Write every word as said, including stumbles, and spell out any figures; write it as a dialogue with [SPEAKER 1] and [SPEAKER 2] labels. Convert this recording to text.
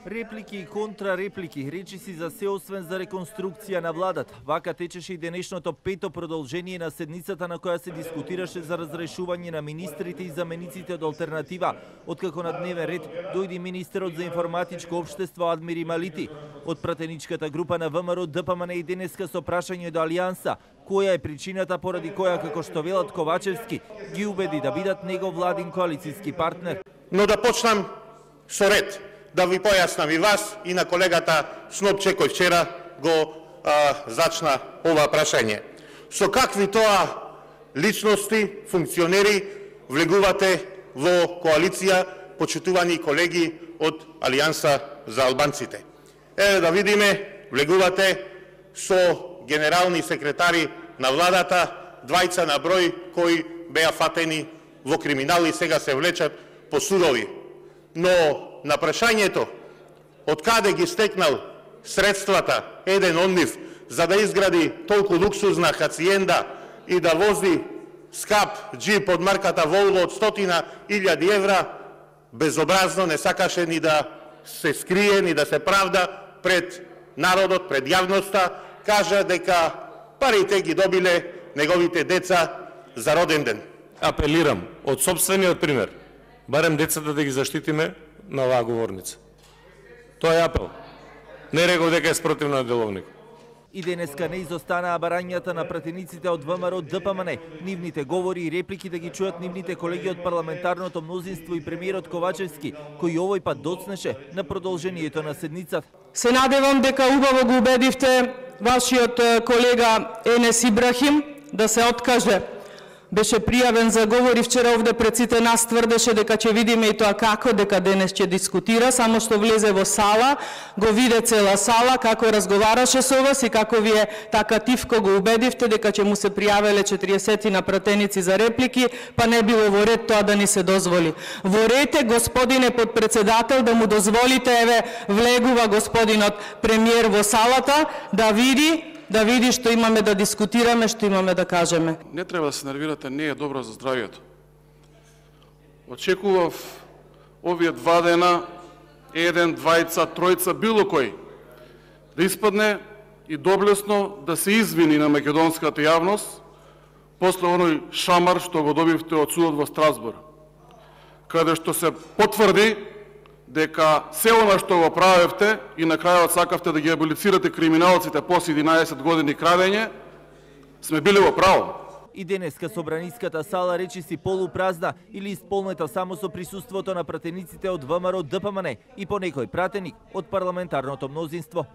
[SPEAKER 1] Реплики и контрареплики, речиси за се освен за реконструкција на владата. Вака течеше и денешното пето продолжение на седницата на која се дискутираше за разрешување на министрите и замениците од алтернатива, откако на дневен ред дојде министерот за информатичко општество Адмир Ималити. Од пратеничката група на ВМРО ДПМН и денеска со прашање до Алијанса, која е причината поради која, како што велат Ковачевски, ги убеди да бидат негов владин коалицијски партнер.
[SPEAKER 2] Но да почнам со ред, да ви појаснам и вас и на колегата Снопче кој вчера го а, зачна ова прашање. Со какви тоа личности, функционери влегувате во коалиција, почитувани колеги од Алијанса за албанците? Еве да видиме, влегувате со генерални секретари на владата, двајца на број кои беа фатени во криминал и сега се влечат по судови. Но на прашањето од каде ги стекнал средствата еден од нив за да изгради толку луксузна хациенда и да вози скап джип од марката Волво од стотина илјади евра, безобразно не сакаше ни да се скрие, ни да се правда пред народот, пред јавноста, кажа дека парите ги добиле неговите деца за роден ден.
[SPEAKER 3] Апелирам од сопствениот пример, барем децата да ги заштитиме на оваа говорница. Тоа е апел. Не реков дека е спротивно на деловник.
[SPEAKER 1] И денеска не изостанаа барањата на пратениците од ВМРО ДПМН. Нивните говори и реплики да ги чујат нивните колеги од парламентарното мнозинство и премиерот Ковачевски, кој овој пат доцнеше на продолжението на седницата.
[SPEAKER 4] Се надевам дека убаво го убедивте вашиот колега Енес Ибрахим да се откаже. Беше пријавен за говори вчера овде пред сите нас, тврдеше дека ќе видиме и тоа како, дека денес ќе дискутира, само што влезе во сала, го виде цела сала, како разговараше со вас и како вие така тивко го убедивте дека ќе му се пријавеле четириесет на пратеници за реплики, па не било во ред тоа да ни се дозволи. Во ред е, господине подпредседател, да му дозволите, еве, влегува господинот премиер во салата, да види да види што имаме да дискутираме, што имаме да кажеме.
[SPEAKER 5] Не треба да се нервирате, не е добро за здравието. Очекував овие два дена, еден, двајца, тројца, било кој, да испадне и доблесно да се извини на македонската јавност после оној шамар што го добивте од судот во Страсбург, каде што се потврди дека се она што го правевте и на крајот сакавте да ги аболицирате криминалците после единаесет години крадење, сме били во право.
[SPEAKER 1] И денеска собраниската сала речиси полупразна или исполнета само со присуството на пратениците од ВМРО ДПМН и по некој пратеник од парламентарното мнозинство.